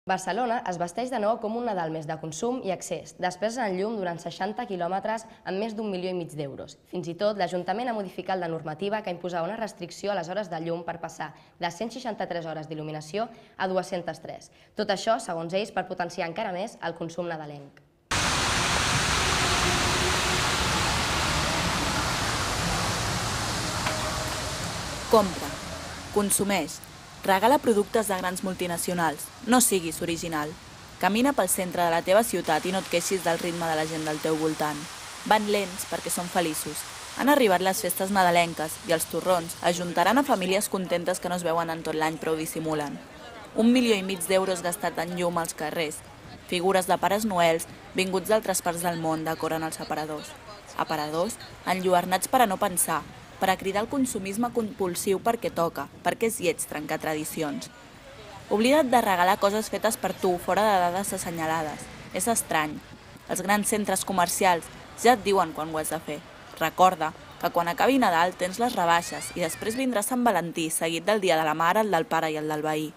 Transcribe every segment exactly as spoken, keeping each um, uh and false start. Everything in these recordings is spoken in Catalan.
Barcelona es vesteix de nou com un Nadal més de consum i accés, després en llum durant seixanta quilòmetres amb més d'un milió i mig d'euros. Fins i tot, l'Ajuntament ha modificat la normativa que imposava una restricció a les hores de llum per passar de cent seixanta-tres hores d'il·luminació a dues-centes tres. Tot això, segons ells, per potenciar encara més el consum nadalenc. Compra, consumeix, regala productes de grans multinacionals, no siguis original. Camina pel centre de la teva ciutat i no et queixis del ritme de la gent del teu voltant. Van lents perquè són feliços. Han arribat les festes nadalenques i els torrons ajuntaran a famílies contentes que no es veuen en tot l'any però ho dissimulen. Un milió i mig d'euros gastat en llum als carrers. Figures de pares noels vinguts d'altres parts del món decoren els aparadors. Aparadors enlluernats per a no pensar, per a cridar el consumisme compulsiu perquè toca, perquè és lleig trencar tradicions. Oblida't de regalar coses fetes per tu fora de dades assenyalades. És estrany. Els grans centres comercials ja et diuen quan ho has de fer. Recorda que quan acabi Nadal tens les rebaixes i després vindrà Sant Valentí seguit del dia de la mare, el del pare i el del veí.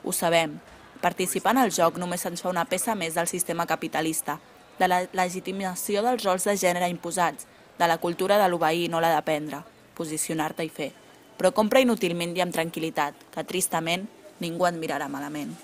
Ho sabem. Participar en el joc només ens fa una peça més del sistema capitalista, de la legitimació dels rols de gènere imposats, de la cultura de l'obeir i no la d'aprendre, posicionar-te i fer. Però compra inútilment i amb tranquil·litat, que tristament ningú et mirarà malament.